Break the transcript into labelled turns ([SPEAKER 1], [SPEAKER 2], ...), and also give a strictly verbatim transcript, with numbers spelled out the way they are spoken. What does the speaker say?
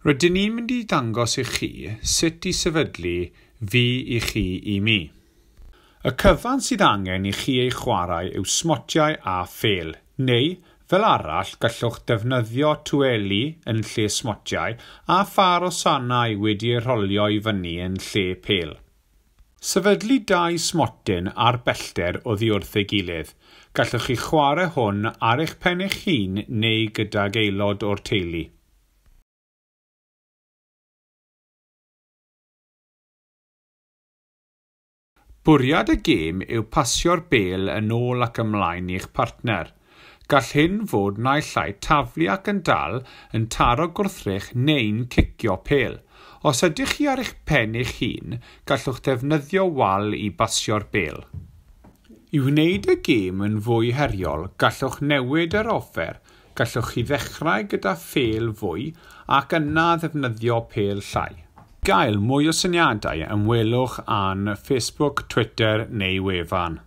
[SPEAKER 1] Rydyn ni'n mynd i ddangos i chi sut i sefydlu Fi i Chi i Mi. Y cyfan sydd angen i chi ei chwarae yw smotiau a phêl, neu fel arall gallwch defnyddio tweli yn lle smotiau a phâr o sanau wedi eu rholio i fyny yn lle pêl. Sefydlu dau smotyn ar bellter oddi wrth ei gilydd. Gallwch chi chwarae hwn ar eich pen eich hun neu gydag aelod o'r teulu. Bwriad y gêm yw pasio'r bêl yn ôl ac ymlaen i'ch partner. Gall hyn fod naill ai taflu ac yn dal, yn taro gwrthrych neu'n cicio pêl. Os ydych chi ar eich pen eich hun, gallwch ddefnyddio wal i basio'r bêl. I wneud y gêm yn fwy heriol, gallwch newid yr offer. Gallwch chi ddechrau gyda phêl fwy ac yna ddefnyddio pêl llai. Gael mwy o syniadau, ymwelwch â'n Facebook, Twitter neu wefan.